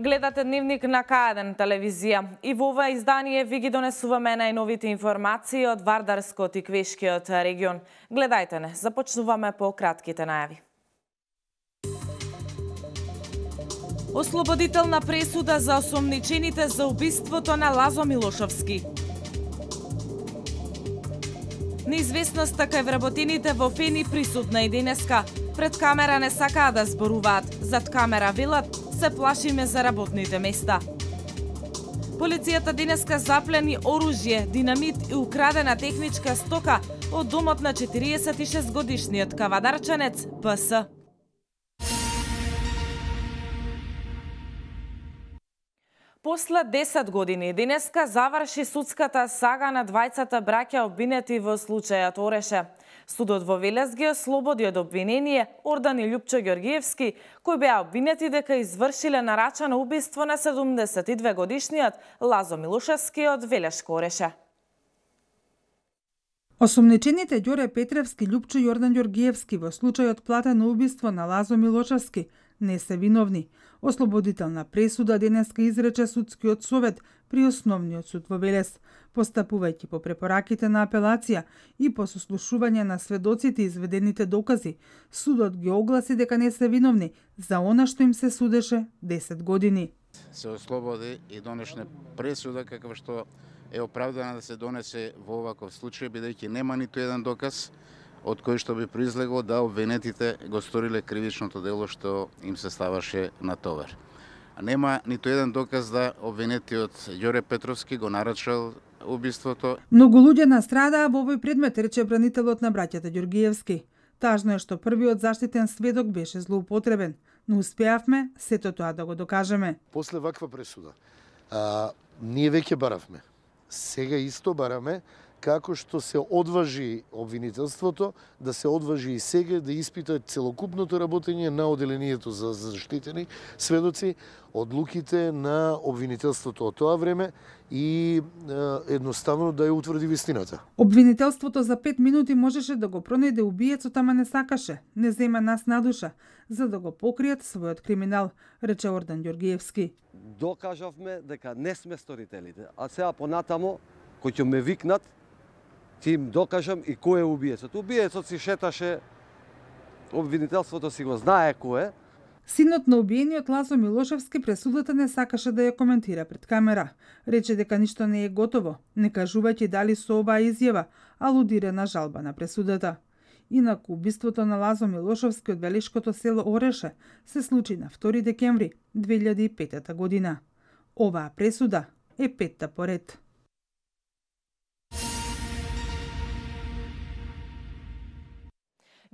Гледате Дневник на К1 телевизија и во ова издание ви ги донесуваме најновите информации од Вардарскиот и Квешкиот регион. Гледајте не, започнуваме по кратките најави. Ослободителна пресуда за осомничените за убиството на Лазо Милошовски. Неизвестноста кај вработените во ФЕНИ присутна и денеска. Пред камера не сакаа да зборуваат, зад камера велат се плашиме за работните места. Полицијата денеска заплени оружје, динамит и украдена техничка стока од домот на 46-годишниот кавадарчанец ПС. После 10 години денеска заврши судската сага на двајцата браќа обвинети во случајот Ореше. Судот во Велес ги ослободи од обвинение Ордан и Љупчо Ѓоргиевски, кои беа обвинети дека извршиле нарачано убиство на 72-годишниот Лазо Милошевски од Велешко Ореше. Осомничените Ѓоре Петревски, Љупчо и Ордан Ѓоргиевски во случајот платено убиство на Лазо Милошевски не се виновни. Ослободителна пресуда денеска изрече судскиот совет при Основниот суд во Велес, постапувајќи по препораките на апелација и по сослушување на сведоците и изведените докази. Судот ги огласи дека не се виновни за она што им се судеше 10 години. Се ослободи и донешне пресуда каква што е оправдана да се донесе во оваков случај, бидејќи нема ниту еден доказ од кој што би произлегло да обвинетите го сториле кривичното дело што им се ставаше на товар. Нема ниту еден доказ да обвинетиот Ѓоре Петровски го нарачал убиството. Многу луѓе настрадаа во овој предмет, рече бранителот на браќата Ѓоргиевски. Тажно е што првиот заштитен сведок беше злоупотребен, но успеавме сето тоа да го докажеме. После ваква пресуда, ние веќе баравме. Сега исто бараме како што се одважи обвинителството, да се одважи и сега да испита целокупното работење на оделението за заштитени сведоци, одлуките на обвинителството од тоа време и едноставно да ја утврди вистината. Обвинителството за 5 минути можеше да го пронајде убиецот, ама не сакаше, не зема нас на душа, за да го покријат својот криминал, рече Ордан Ѓоргиевски. Докажавме дека не сме сторителите, а сега понатамо, кој ќе ме викнат, ќе им докажам и кој е убиецот. Убиецот си шеташе, обвинителството си го знае кој е. Синот на убиениот Лазо Милошевски пресудата не сакаше да ја коментира пред камера. Рече дека ништо не е готово, не кажувајќи дали со оваа изјава алудира на жалба на пресудата. Инаку убиството на Лазо Милошевски од Велешкото село Ореше се случи на 2 декември 2005 година. Оваа пресуда е 5-та поред.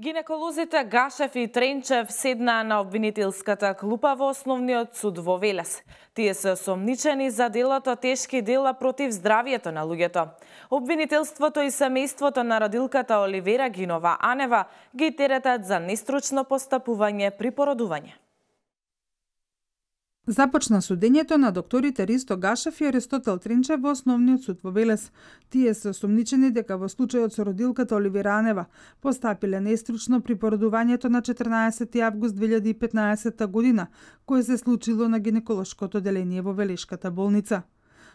Гинеколозите Гашев и Тренчев седнаа на обвинителската клупа во Основниот суд во Велес. Тие се осомничени за делото тешки дела против здравието на луѓето. Обвинителството и семејството на родилката Оливера Гинова Анева ги теретат за нестручно постапување при породување. Започна судењето на докторите Ристо Гашев и Аристотел Тренчев во Основниот суд во Велес. Тие се осомничени дека во случајот со родилката Оливера Анева постапиле нестручно при породувањето на 14 август 2015 година, кое се случило на гинеколошкото оделение во Велешката болница.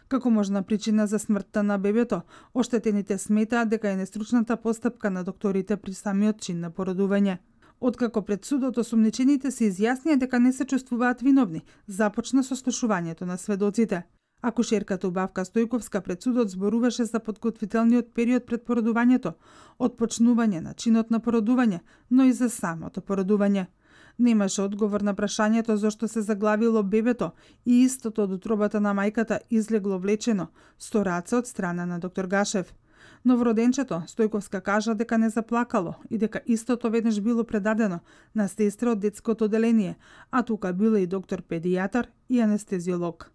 Како можна причина за смртта на бебето, оштетените сметаат дека е нестручната постапка на докторите при самиот чин на породување. Откако пред судот осомничените се изјаснија дека не се чувствуваат виновни, започна сослушувањето на сведоците. Акушерката Убавка Стојковска пред судот зборуваше за подготвителниот период пред породувањето, од почнување на чинот на породување, но и за самото породување. Немаше одговор на прашањето зошто се заглавило бебето и истото од утробата на мајката излегло влечено, со раце од страна на доктор Гашев. Новороденчето, Стојковска кажа дека не заплакало и дека истото веднаш било предадено на сестра од детското оделение, а тука била и доктор педијатар и анестезиолог.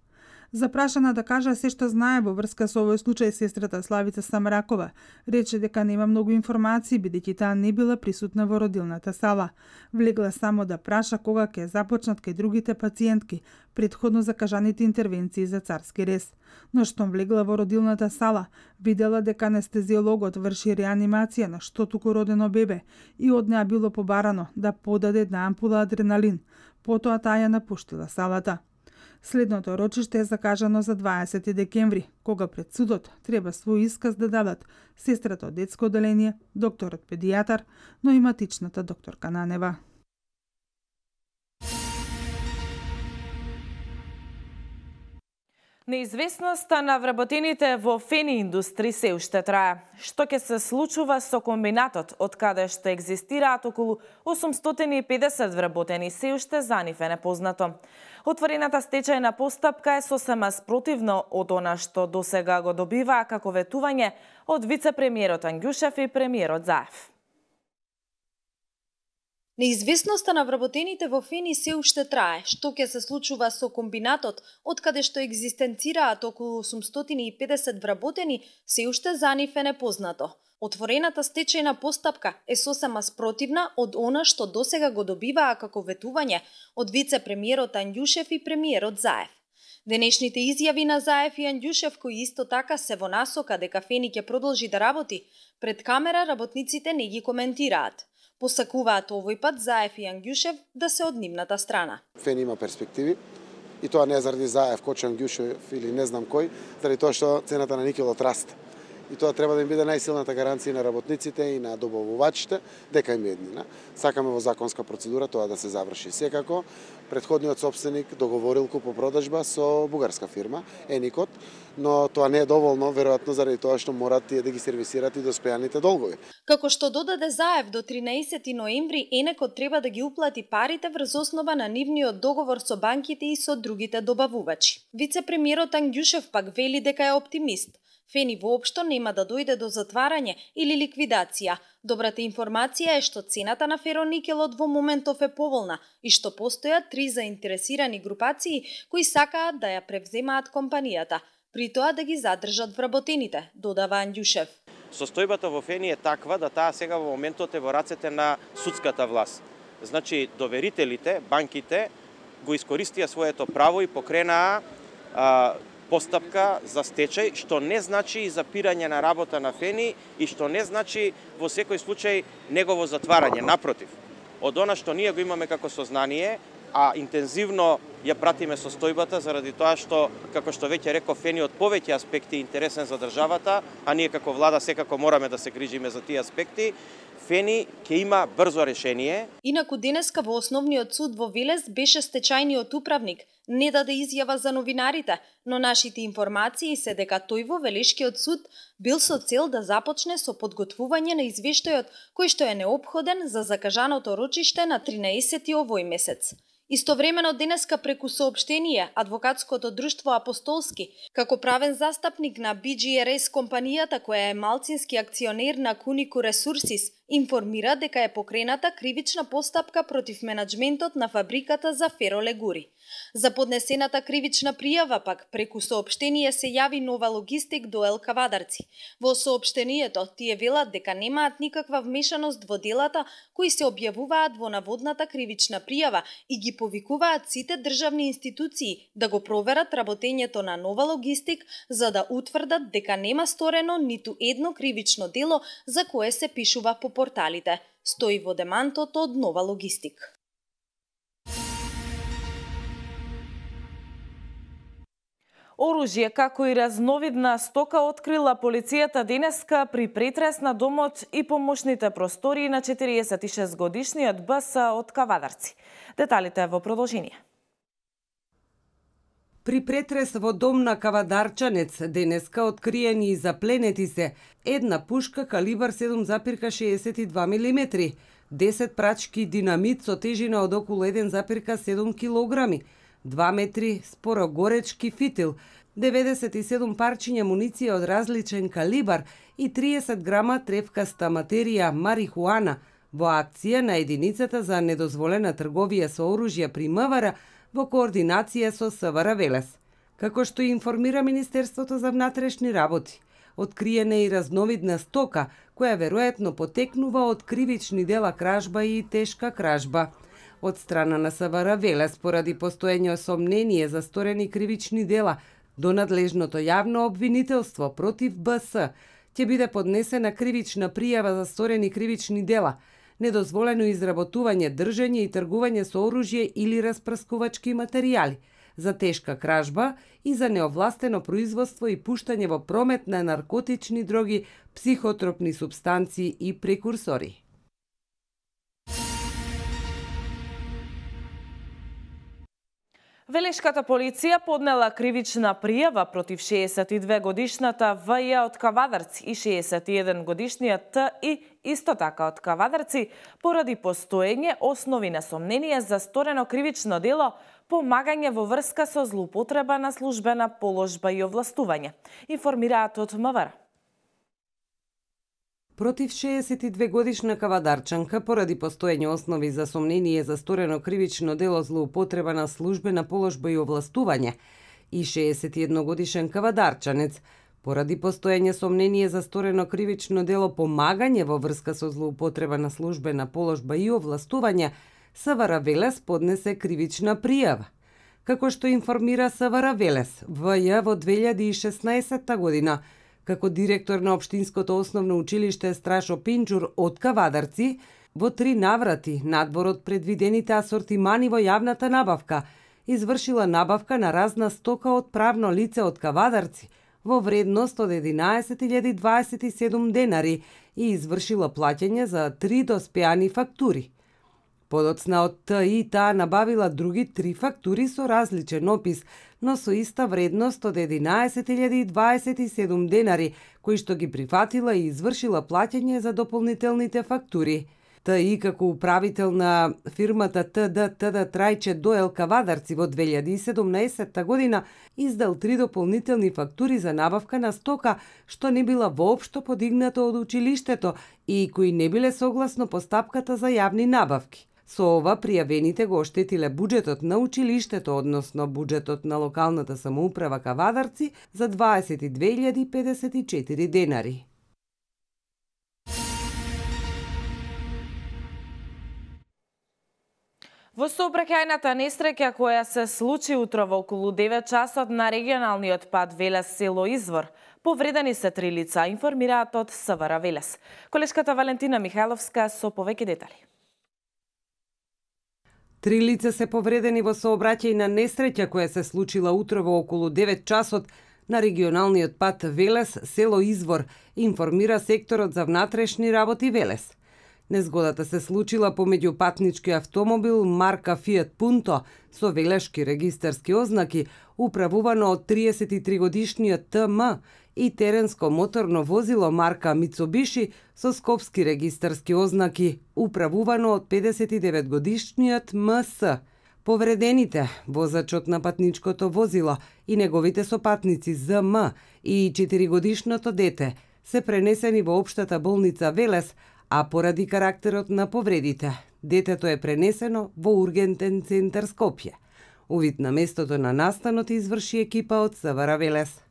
Запрашана да кажа се што знае во врска со овој случај, сестрата Славица Самракова рече дека нема многу информации, бидејќи таа не била присутна во родилната сала. Влегла само да праша кога ќе започнат кај другите пациентки претходно закажаните интервенции за царски рез. Но штом влегла во родилната сала, видела дека анестезиологот врши реанимација на штотуку родено бебе и од неа било побарано да подаде една ампула адреналин. Потоа таа ја напуштила салата. Следното рочиште е закажано за 20 декември, кога пред судот треба свој исказ да дадат сестрата од детско оделение, докторот педијатар, но и матичната докторка Нанева. Неизвестноста на вработените во фени индустри се уште трае. Што ќе се случува со комбинатот, од каде што екзистираат околу 850 вработени, се уште за нив е непознато. Отворената стечајна постапка е сосема спротивно од она што досега го добиваа како ветување од вице-премиерот Ангјушев и премиерот Заев. Неизвестноста на вработените во фени се уште трае. Што ќе се случува со комбинатот, од каде што екзистенцираат околу 850 вработени, се уште за нив е непознато. Отворената стечајна постапка е сосема спротивна од она што досега го добиваа како ветување од вице-премиерот Ангјушев и премиерот Заев. Денешните изјави на Заев и Ангјушев, кои исто така се во насока дека фени ќе продолжи да работи, пред камера работниците не ги коментираат. Посакуваат овој пат Заев и Ангјушев да се од нивната страна. Фени има перспективи и тоа не заради Заев, Кочо, Ангјушев или не знам кој, заради тоа што цената на никелот расте. И тоа треба да им биде најсилната гаранција на работниците и на добавувачите дека им е еднина. Сакаме во законска процедура тоа да се заврши. Секако, претходниот сопственик договорил купопродажба со бугарска фирма, Еникот, но тоа не е доволно, веројатно заради тоа што морат тие да ги сервисират и доспеаните долгови. Како што додаде Заев, до 13 ноември Енекот треба да ги уплати парите врз основа на нивниот договор со банките и со другите добавувачи. Вице-премиерот Ангјушев пак вели дека е оптимист. Фени воопшто нема да дојде до затварање или ликвидација. Добрата информација е што цената на фероникелот во моментов е поволна и што постојат 3 заинтересирани групации кои сакаат да ја превземаат компанијата, при тоа да ги задржат вработените, додава Ангјушев. Состојбата во фени е таква да таа сега во моментот е во рацете на судската власт. Значи, доверителите, банките го искористија своето право и покренаа постапка за стечај, што не значи запирање на работа на фени и што не значи во секој случај негово затварање. Напротив, од она што ние го имаме како сознание, а интензивно ја пратиме состојбата заради тоа што, како што веќе реков, фени од повеќе аспекти интересен за државата, а ние како влада секако мораме да се грижиме за тие аспекти, фени ќе има брзо решение. Инаку денеска во Основниот суд во Велес беше стечајниот управник, не даде изјава за новинарите, но нашите информации се дека тој во Велешкиот суд бил со цел да започне со подготвување на извештајот кој што е неопходен за закажаното рочиште на 13 овој месец. Истовремено денеска преку соопштение Адвокатското друштво Апостолски, како правен застапник на BGRS компанијата која е малцински акционер на Кунику Ресурсис, информира дека е покрената кривична постапка против менаџментот на фабриката за феролегури. За поднесената кривична пријава пак преку соопштение се јави Нова Логистик до ел Кавадарци. Во соопштението тие велат дека немаат никаква вмешаност во делата кои се објавуваат во наводната кривична пријава и ги повикуваат сите државни институции да го проверат работењето на Нова Логистик за да утврдат дека нема сторено ниту едно кривично дело за кое се пишува по порталите. Стои во демантот од Нова Логистик. Оружје како и разновидна стока открила полицијата денеска при претрес на домот и помошните простории на 46-годишниот БС од Кавадарци. Деталите во продолжение. При претрес во дом на Кавадарчанец денеска откриени и запленети се една пушка калибар 7,62 мм, 10 прачки динамит со тежина од околу 1,7 кг, 2 метри спорогоречки фитил, 97 парчиња муниција од различен калибар и 30 грама тревкаста материја марихуана во акција на единицата за недозволена трговија со оружја при МВР во координација со СВР Велес. Како што информира Министерството за внатрешни работи, откриена е и разновидна стока, која веројатно потекнува од кривични дела кражба и тешка кражба. Од страна на СВР Велес, поради постоење сомнение за сторени кривични дела до надлежното јавно обвинителство против БС, ќе биде поднесена кривична пријава за сторени кривични дела, недозволено изработување, држење и тргување со оружје или распрскувачки материјали, за тешка кражба и за неовластено производство и пуштање во промет на наркотични дроги, психотропни супстанции и прекурсори. Велешката полиција поднела кривична пријава против 62-годишната ВЈ од Кавадарци и 61-годишниот ТИ исто така од Кавадарци поради постоење основи на сомнение за сторено кривично дело помагање во врска со злоупотреба на службена положба и овластување, информираат од МВР. Против 62-годишна кавадарчанка поради постоење основи за сомнение за сторено кривично дело злоупотреба на службена положба и овластување и 61-годишен кавадарчанец поради постоење сомнение за сторено кривично дело помагање во врска со злоупотреба на службена положба и овластување, СВР Велес поднесе кривична пријава. Како што информира СВР Велес, ВЈ во 2016 година како директор на Општинското основно училиште Страшо Пинџур од Кавадарци, во 3 наврати, надвор од предвидените асортимани во јавната набавка, извршила набавка на разна стока од правно лице од Кавадарци во вредност од 11.027 денари и извршила плаќање за 3 доспеани фактури. Подоцна од ТИ таа набавила други 3 фактури со различен опис, но со иста вредност од 11.027 денари, кои што ги прифатила и извршила плаќање за дополнителните фактури. ТИ како управител на фирмата ТД Трајче Доел Кавадарци во 2017 година издал 3 дополнителни фактури за набавка на стока што не била воопшто подигната од училиштето и кои не биле согласно постапката за јавни набавки. Со ова пријавените го оштетиле буџетот на училиштето, односно буџетот на локалната самоуправа Кавадарци за 22.054 денари. Во сообраќајната несреќа која се случи утрово околу 9 часот на регионалниот пат Велес село Извор, повредени се 3 лица, информираат од СВР Велес. Колешката Валентина Михајловска со повеќе детали. 3 лица се повредени во сообраќајна несреќа која се случила утрово околу 9 часот на регионалниот пат Велес село Извор, информира секторот за внатрешни работи Велес. Незгодата се случила помеѓу патнички автомобил марка Фијат Пунто со велешки регистарски ознаки, управувано од 33-годишниот ТМ и теренско моторно возило марка Мицубиши со скопски регистарски ознаки, управувано од 59-годишниот МС. Повредените, возачот на патничкото возило и неговите сопатници ЗМ и 4-годишното дете, се пренесени во општата болница Велес, а поради карактерот на повредите, детето е пренесено во ургентен центар Скопје. Увид на местото на настанот изврши екипа од СВР Велес.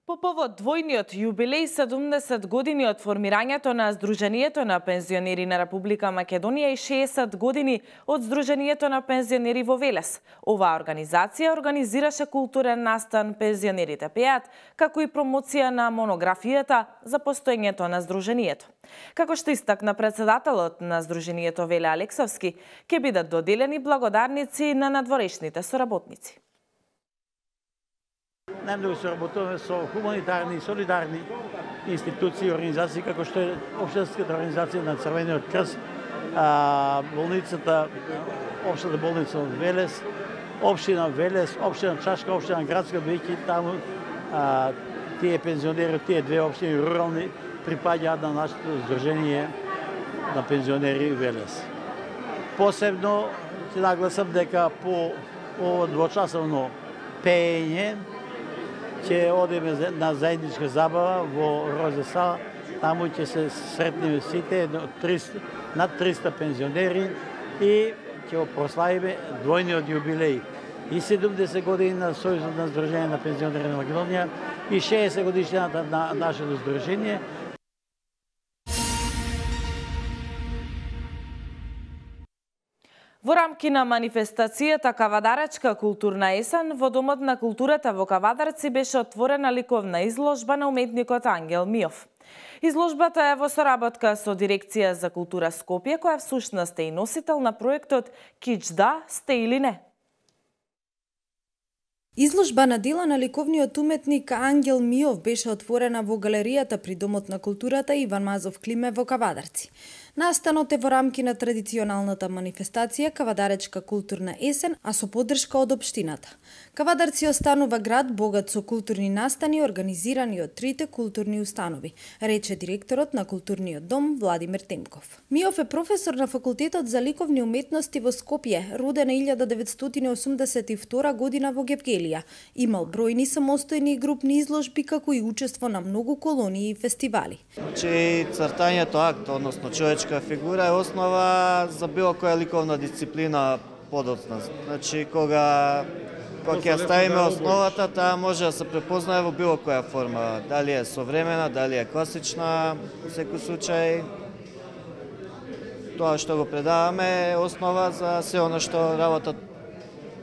По повод двојниот јубилеј 70 години од формирањето на Сдруженијето на пензионери на Република Македонија и 60 години од Сдруженијето на пензионери во Велес, оваа организација организираше културен настан Пензионерите пеат, како и промоција на монографијата за постоењето на Сдруженијето. Како што истакна председателот на Сдруженијето Веле Алексовски, ќе бидат доделени благодарници на надворешните соработници. Најмногу се работуваме со хуманитарни и солидарни институции и организации, како што е Општинската организација на Црвениот крст, болницата, Општата болница од Велес, Општина Велес, Општина Чашка, Општина Градска, бидејќи таму тие пензионери од тие две општини рурални припаѓаат на нашето Сдружение на пензионери Велес. Посебно ќе нагласам дека по ово двочасовно пеење ќе одиме на заедничка забава во Розе Сала. Таму ќе се сретнеме сите, над 300 пензионери и ќе го прославиме двојниот јубилеј. И 70 години на Сојузот на Сдружение на пензионери на Македонија и 60 годишнината на нашето здружение. Во рамки на манифестацијата Кавадаречка културна есен, во Домот на културата во Кавадарци беше отворена ликовна изложба на уметникот Ангел Миов. Изложбата е во соработка со Дирекција за култура Скопје, која всушност е и носител на проектот Кич да, сте или не. Изложба на дела на ликовниот уметник Ангел Миов беше отворена во галеријата при Домот на културата Иван Мазов Климе во Кавадарци. Настанот е во рамки на традиционалната манифестација Кавадаречка културна есен, а со поддршка од општината. Кавадарци останува град богат со културни настани организирани од трите културни установи, рече директорот на културниот дом Владимир Темков. Миов е професор на факултетот за ликовни уметности во Скопје, роден 1982 година во Гевгелија. Имал бројни самостојни и групни изложби, како и учество на многу колонии и фестивали. Цртањето акт, односно човечка фигура, е основа за било која ликовна дисциплина подоцна. Значи, кога ќе ставиме основата, таа може да се препознае во било која форма. Дали е современа, дали е класична, во секој случај. Тоа што го предаваме е основа за се оно што работат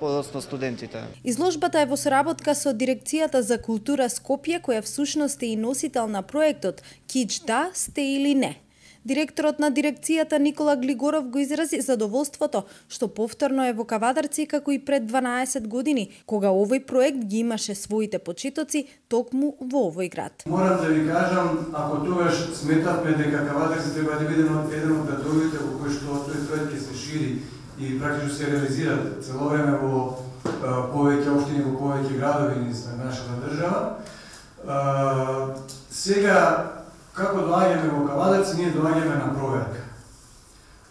подоцна студентите. Изложбата е во соработка со Дирекцијата за култура Скопје, која всушност е и носител на проектот Кич да, сте или не. Директорот на дирекцијата Никола Глигоров го изрази задоволството што повторно е во Кавадарци како и пред 12 години, кога овој проект ги имаше своите почетоци токму во овој град. Морам да ви кажам, ако тогаш сметавме дека Кавадарци треба да биде еден од градовите во кој што тој проект ќе се шири и практично се реализира цело време во повеќе општини, во повеќе градови низ нашата држава. Сега, како доаѓаме во Кавадарци, ние доаѓаме на проверка.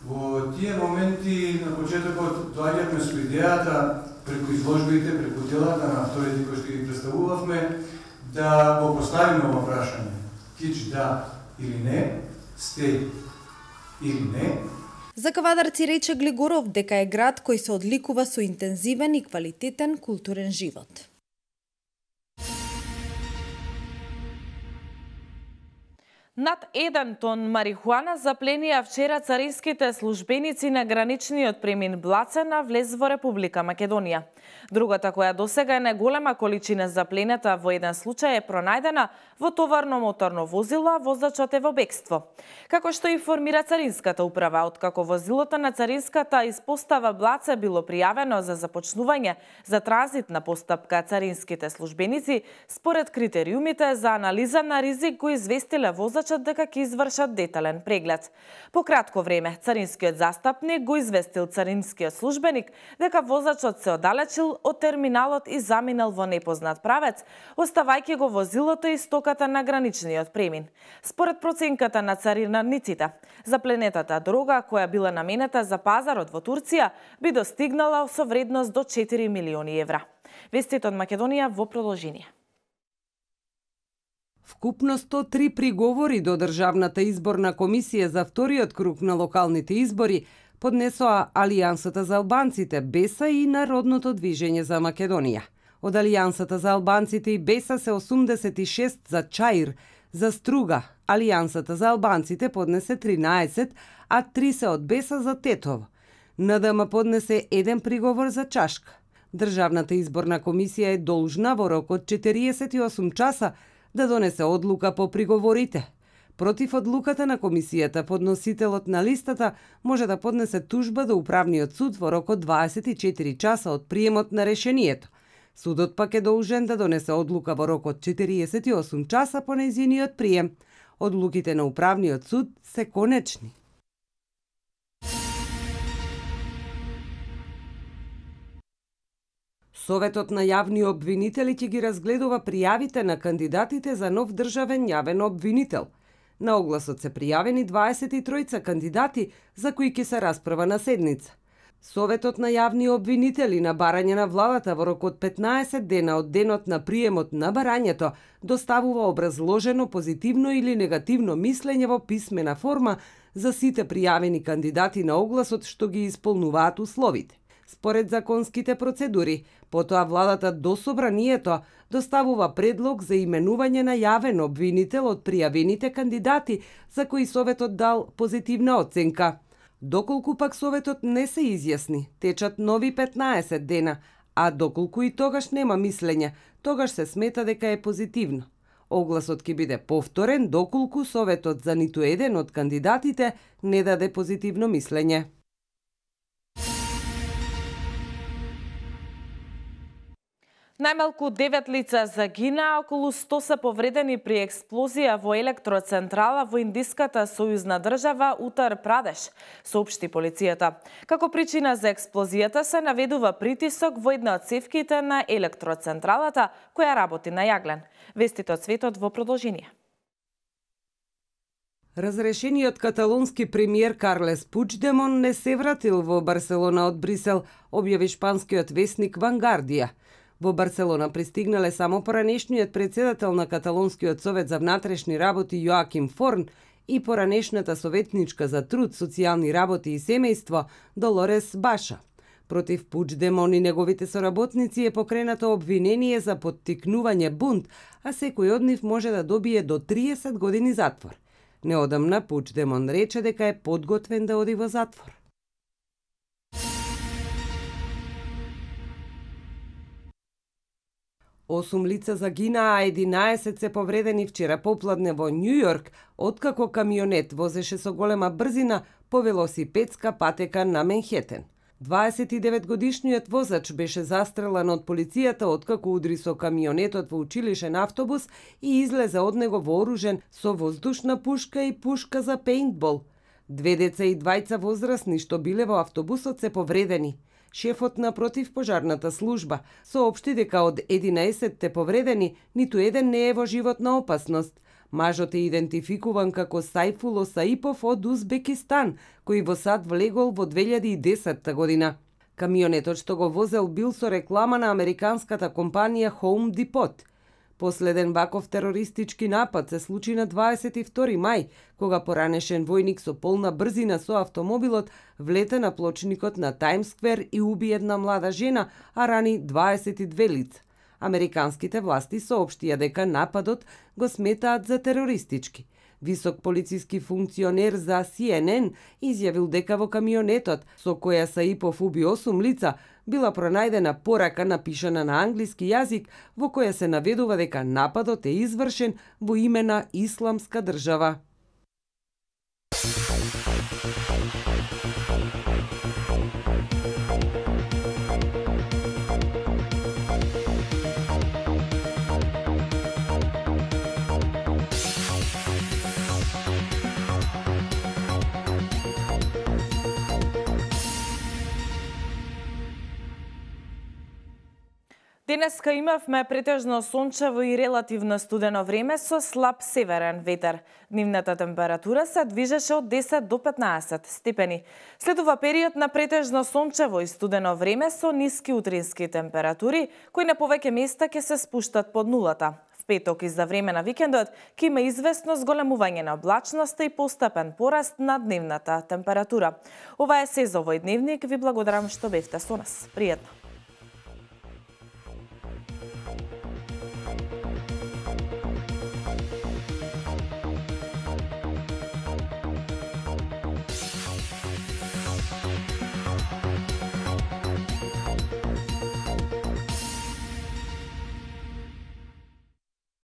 Во тие моменти, на почетокот, доаѓаме со идејата, преку изложбите, преку делата на авторите кои што ги представувавме, да го поставиме ова прашање. Кич да или не, сте или не. За Кавадарци рече Глигоров дека е град кој се одликува со интензивен и квалитетен културен живот. Над 1 тон марихуана запленија вчера царинските службеници на граничниот премин Блаце на влез во Република Македонија. Другата, која досега е најголема количина заплената во еден случај, е пронајдена во товарно моторно возило, а возачот е во бегство. Како што информира Царинската управа, откако возилото на Царинската испостава Блаце било пријавено за започнување за транзитна постапка, царинските службеници, според критериумите за анализа на ризик, го известиле возачот дека ќе извршат детален преглед. По кратко време, царинскиот застапник го известил царинскиот службеник дека возачот се оддалечил од терминалот и заминал во непознат правец, оставајќи го возилото и стоката на граничниот премин. Според проценката на царинарниците, запленетата дрога, која била наменета за пазарот во Турција, би достигнала со вредност до 4 милиони евра. Вестите од Македонија во продолжение. Вкупно 103 приговори до Државната изборна комисија за вториот круг на локалните избори поднесоа Алијансата за албанците, БЕСА и Народното движење за Македонија. Од Алијансата за албанците и БЕСА се 86 за Чаир, за Струга. Алијансата за албанците поднесе 13, а 3 се од БЕСА за Тетово. НДМ поднесе 1 приговор за Чашка. Државната изборна комисија е должна во рок од 48 часа да донесе одлука по приговорите. Против одлуката на комисијата, подносителот на листата може да поднесе тужба до управниот суд во рок од 24 часа од приемот на решението. Судот пак е должен да донесе одлука во рок од 48 часа по нејзиниот прием. Одлуките на управниот суд се конечни. Советот на јавни обвинители ќе ги разгледува пријавите на кандидатите за нов државен јавен обвинител. На огласот се пријавени 23 кандидати за кои ќе се расправа на седница. Советот на јавни обвинители на барање на владата во рок од 15 дена од денот на приемот на барањето доставува образложено позитивно или негативно мислење во писмена форма за сите пријавени кандидати на огласот што ги исполнуваат условите. Според законските процедури, потоа владата до собранието доставува предлог за именување на јавен обвинител од пријавените кандидати за кои Советот дал позитивна оценка. Доколку пак Советот не се изјасни, течат нови 15 дена, а доколку и тогаш нема мислење, тогаш се смета дека е позитивно. Огласот ќе биде повторен доколку Советот за ниту еден од кандидатите не даде позитивно мислење. Најмалку 9 лица загинаа, околу 100 се повредени при експлозија во електроцентрала во индиската сојузна држава Утар Прадеш, соопшти полицијата. Како причина за експлозијата се наведува притисок во една од цевките на електроцентралата која работи на јаглен. Вестите од светот во продолжение. Разрешениот каталонски премиер Карлес Пучдемон не се вратил во Барселона од Брисел, објави шпанскиот весник Вангардија. Во Барселона пристигнале само поранешниот председател на Каталонскиот совет за внатрешни работи Јоаким Форн и поранешната советничка за труд, социјални работи и семејство Долорес Баша. Против Пучдемон и неговите соработници е покренато обвинение за поттикнување бунт, а секој од нив може да добие до 30 години затвор. Неодамна Пучдемон рече дека е подготвен да оди во затвор. Осум лица загинаа, а 11 се повредени вчера попладне во Њу Јорк, откако камионет возеше со голема брзина по велосипедска патека на Менхетен. 29-годишниот возач беше застрелан од полицијата откако удри со камионетот во училишен автобус и излезе од него вооружен со воздушна пушка и пушка за пејнтбол. 2 деца и 2 возрасни што биле во автобусот се повредени. Шефот на противпожарната служба соопшти дека од 11 повредени, ниту еден не е во животна опасност. Мажот е идентификуван како Сајфул Осаипов од Узбекистан, кој во САД влегол во 2010 година. Камионетот што го возел бил со реклама на американската компанија Home Depot. Последен ваков терористички напад се случи на 22 мај, кога поранешен војник со полна брзина со автомобилот влете на плочникот на Таймс сквер и уби една млада жена, а рани 22 лица. Американските власти соопштија дека нападот го сметаат за терористички. Висок полициски функционер за CNN изјавил дека во камионетот со која Саипов уби 8 лица била пронајдена порака напишана на англиски јазик во која се наведува дека нападот е извршен во име на Исламска држава. Денеска имавме претежно сончево и релативно студено време со слаб северен ветер. Дневната температура се движеше од 10 до 15 степени. Следува период на претежно сончево и студено време со ниски утрински температури, кои на повеќе места ќе се спуштат под нулата. В петок и за време на викендот ќе има известно зголемување на облачноста и постепен пораст на дневната температура. Ова е се за овој дневник. Ви благодарам што бевте со нас. Пријатно.